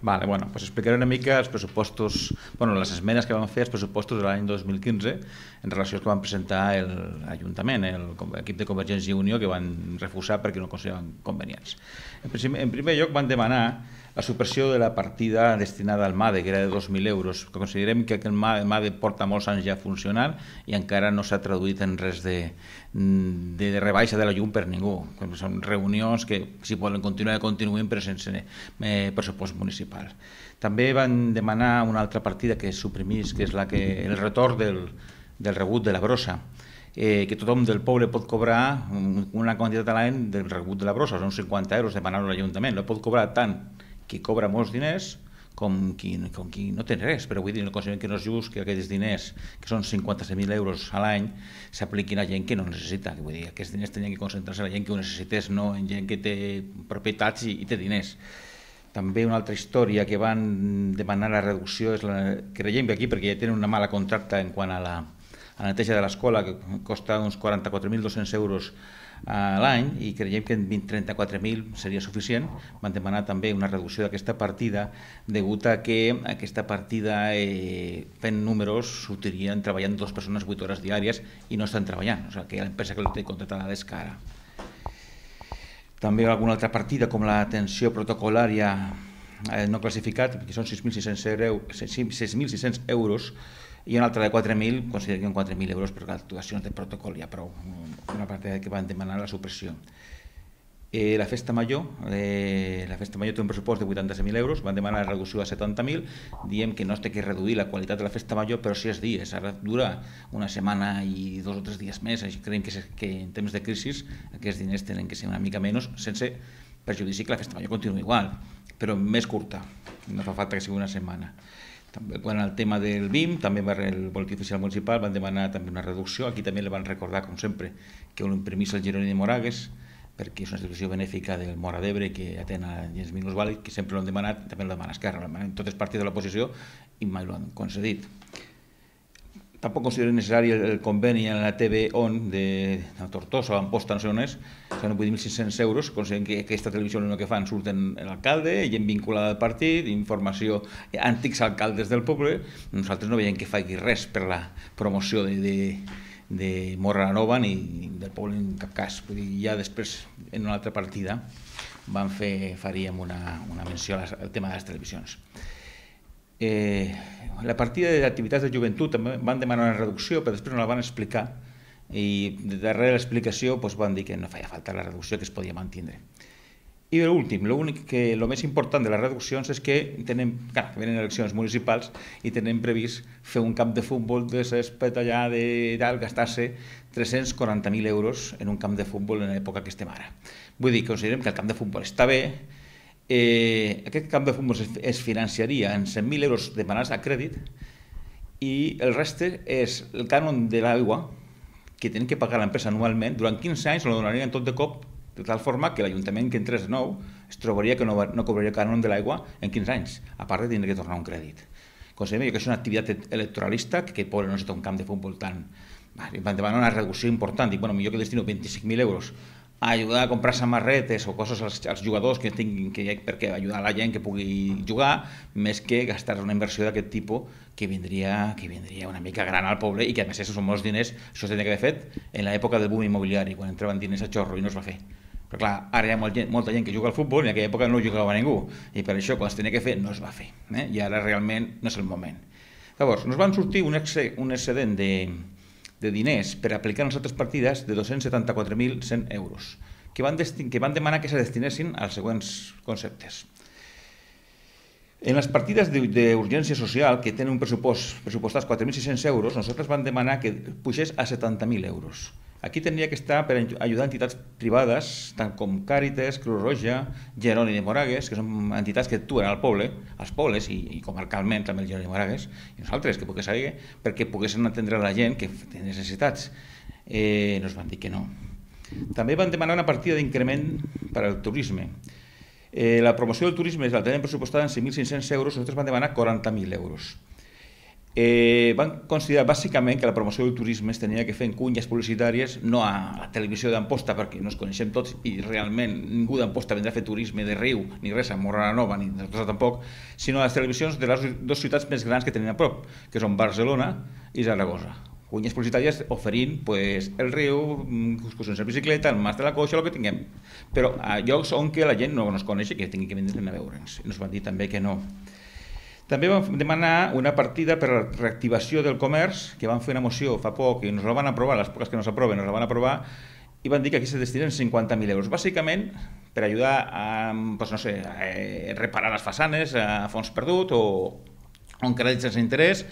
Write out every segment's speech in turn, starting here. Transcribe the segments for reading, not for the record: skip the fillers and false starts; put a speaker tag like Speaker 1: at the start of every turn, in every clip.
Speaker 1: Vale, bueno, pues explicaré una mica els pressupostos, bueno, les esmenes que vam fer als pressupostos de l'any 2015 en relació als que van presentar l'Ajuntament, l'equip de Convergència i Unió, que van refusar perquè no consideraven convenients. En primer lloc van demanar la supressió de la partida destinada al MADE, que era de 2.000 euros. Considerem que el MADE porta molts anys ja funcionant i encara no s'ha traduït en res de rebaixa de la llum per ningú. Són reunions que, si volen continuar, continuïn, però sense pressupost municipal. També van demanar una altra partida que es suprimís, que és el retorn del rebut de la brossa, que tothom del poble pot cobrar una quantitat a l'any del rebut de la brossa, són 50 euros, demanar-ho a l'Ajuntament. La pot cobrar tant qui cobra molts diners com qui no té res, però vull dir, no considerem que no és just que aquells diners, que són 57.000 euros a l'any, s'apliquin a gent que no necessita. Vull dir, aquests diners tenien que concentrar-se en la gent que ho necessités, no en gent que té propietats i té diners. També una altra història que van demanar la reducció és creiem que aquí, perquè ja tenen una mala contracta en quant a la neteja de l'escola, que costa uns 44.200 euros a l'any, i creiem que en 34.000 seria suficient. Van demanar també una reducció d'aquesta partida degut a que aquesta partida, fent números, s'utilirien treballant 2 persones 8 hores diàries i no estan treballant, o sigui que l'empresa que la té contratada és cara. També alguna altra partida com l'atenció protocolària no classificat, que són 6.600 euros, i una altra de 4.000, considerem 4.000 euros per actuacions de protocol, ja prou, una partida que van demanar la supressió. La Festa Major té un pressupost de 87.000 euros, van demanar la reducció a 70.000, diem que no es té que reduir la qualitat de la Festa Major, però 6 dies, ara dura una setmana i 2 o 3 dies més, així creiem que en temps de crisi aquests diners tenen que ser una mica menys, sense perjudici que la Festa Major continua igual, però més curta, no fa falta que sigui una setmana. També, quan el tema del BIM, també el Boletí Oficial Municipal van demanar també una reducció. Aquí també li van recordar, com sempre, que ho imprimís el Jeroni de Moragues, perquè és una institució benèfica del Móra d'Ebre que atén a gens minusvàlids, que sempre l'han demanat, també l'han demanat Esquerra, en totes parts de l'oposició, i mai l'han concedit. Tampoc considero necessari el conveni en la TV-ON de Tortosa o Amposta, no sé on és, són 8.600 euros, considerem que aquesta televisió el que fan surten l'alcalde, gent vinculada al partit, informació, antics alcaldes del poble. Nosaltres no veiem que faci res per la promoció de Móra la Nova ni del poble en cap cas. Vull dir, ja després, en una altra partida, faríem una menció al tema de les televisions. La partida d'activitats de joventut també van demanar una reducció, però després no la van explicar, i darrere l'explicació van dir que no feia falta la reducció, que es podia mantindre. I l'últim, el més important de les reduccions és que venen eleccions municipals i tenen previst fer un camp de futbol de césped allà, gastar-se 340.000 euros en un camp de futbol en l'època que estem ara. Vull dir, considerem que el camp de futbol està bé. Aquest camp de futbol es financiaria en 100.000 euros demanats a crèdit i el reste és el cànon de l'aigua que tenen que pagar l'empresa anualment. Durant 15 anys lo donarien tot de cop, de tal forma que l'Ajuntament que entrés de nou es trobaria que no cobraria cànon de l'aigua en 15 anys, a part de tindre que tornar un crèdit. Considerem que és una activitat electoralista, que poble no necessita un camp de futbol tan... Van demanar una reducció important, i millor que destino 25.000 euros a ajudar a comprar samarretes o coses als jugadors que tinguin, perquè ajudar la gent que pugui jugar, més que gastar una inversió d'aquest tipus que vindria una mica gran al poble, i que a més són molts diners. Això s'hauria d'haver fet en l'època del boom immobiliari, quan entraven diners a xorro, i no es va fer. Però clar, ara hi ha molta gent que juga al futbol i en aquella època no jugava ningú, i per això quan es tenia que fer no es va fer, i ara realment no és el moment. Llavors, ens van sortir un excedent de diners per aplicar en les altres partides de 274.100 euros, que van demanar que se destinessin als següents conceptes. En les partides d'urgència social, que tenen un pressupostats 4.600 euros, nosaltres vam demanar que pugés a 70.000 euros. Aquí tindria que estar per ajudar entitats privades, tant com Càritas, Creu Roja, Jeroni de Moragues, que són entitats que actuen als pobles i comarcalment també el Jeroni de Moragues, i nosaltres, que pogués saber, perquè poguessin atendre la gent que té necessitats. Ens van dir que no. També van demanar una partida d'increment per al turisme. La promoció del turisme la tenen pressupostada en 5.500 euros, nosaltres van demanar 40.000 euros. van considerar bàsicament que la promoció del turisme es tenia que fer en cunyes publicitàries, no a la televisió d'Amposta, perquè no ens coneixem tots i realment ningú d'Amposta vendrà a fer turisme de Riu, ni res a Morra la Nova, ni de Tortosa tampoc, sinó a les televisions de les dues ciutats més grans que tenen a prop, que són Barcelona i Zaragoza. Cunyes publicitàries oferint el riu, excursions en bicicleta, el mas de la coixa, el que tinguem. Però a llocs on que la gent no ens coneix i que tingui que vindre a veure'ns. I ens van dir també que no. També vam demanar una partida per a la reactivació del comerç, que van fer una moció fa poc i ens la van aprovar, les poques que no s'aproven ens la van aprovar, i van dir que aquí se destinen 50.000 euros, bàsicament per ajudar a, doncs no sé, a reparar les façanes a fons perdut o on crèdits sense interès.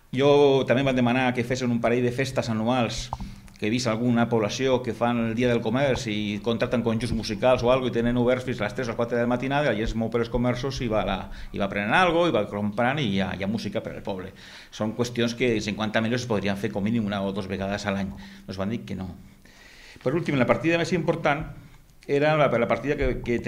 Speaker 1: Jo també van demanar que fessin un parell de festes anuals, que he vist alguna població que fan el dia del comerç i contracten conjunts musicals o alguna cosa i tenen oberts fins a les 3 o les 4 de la matinada, i la gent es mou per els comerços i va prenent alguna cosa, i va comprant i hi ha música per al poble. Són qüestions que 50 milions es podrien fer com mínim una o dues vegades a l'any. Ens van dir que no. Per últim, la partida més important era la partida que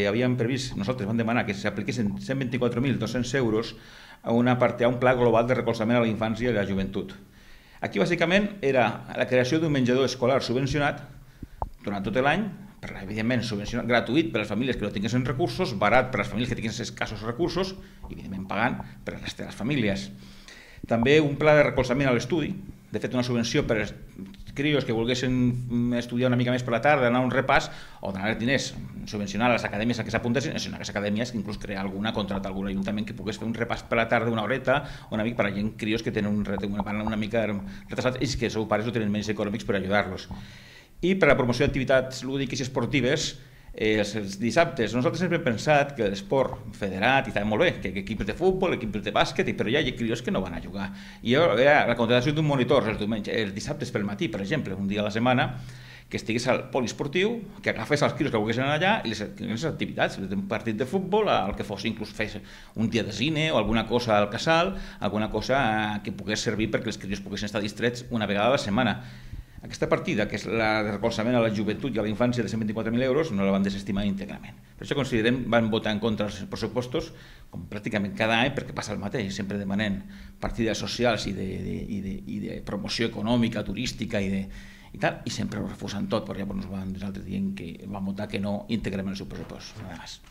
Speaker 1: havíem previst, nosaltres vam demanar que s'apliquessin 124.200 euros a un pla global de recolzament a la infància i a la joventut. Aquí, bàsicament, era la creació d'un menjador escolar subvencionat durant tot l'any, evidentment subvencionat, gratuït per a les famílies que no tinguessin recursos, barat per a les famílies que tinguessin escassos recursos, i evidentment pagant per a la resta de les famílies. També un pla de recolzament a l'estudi, de fet una subvenció per als crios que volguessin estudiar una mica més per la tarda, anar a un repàs, o donar diners, subvencionar a les acadèmies a què s'apuntessin, sinó a les acadèmies que inclús crear contractar algun ajuntament que pogués fer un repàs per la tarda, una horeta, una mica per a gent crios que tenen una mica retrasat i que els seus pares no tenen menys econòmics per ajudar-los. I per a la promoció d'activitats lúdiques i esportives, els dissabtes, nosaltres sempre hem pensat que l'esport federat, i està molt bé, que equips de futbol, equips de bàsquet, però hi ha crios que no van a jugar. I era la contratació d'un monitor els dissabtes pel matí, per exemple, un dia a la setmana, que estigués al poliesportiu, que agafés els crios que volguessin anar allà i les activitats, un partit de futbol, el que fos, inclús fes un dia de cine o alguna cosa al casal, alguna cosa que pogués servir perquè els crios poguessin estar distrets una vegada a la setmana. Aquesta partida, que és la de recolzament a la joventut i a la infància de 124.000 euros, no la van desestimar íntegrament. Per això considerem van votar en contra dels pressupostos, com pràcticament cada any, perquè passa el mateix, sempre demanem partides socials i de promoció econòmica, turística i tal, i sempre ho refusen tot, perquè llavors nosaltres diem que van votar que no íntegrament el seu pressupost. Nada más.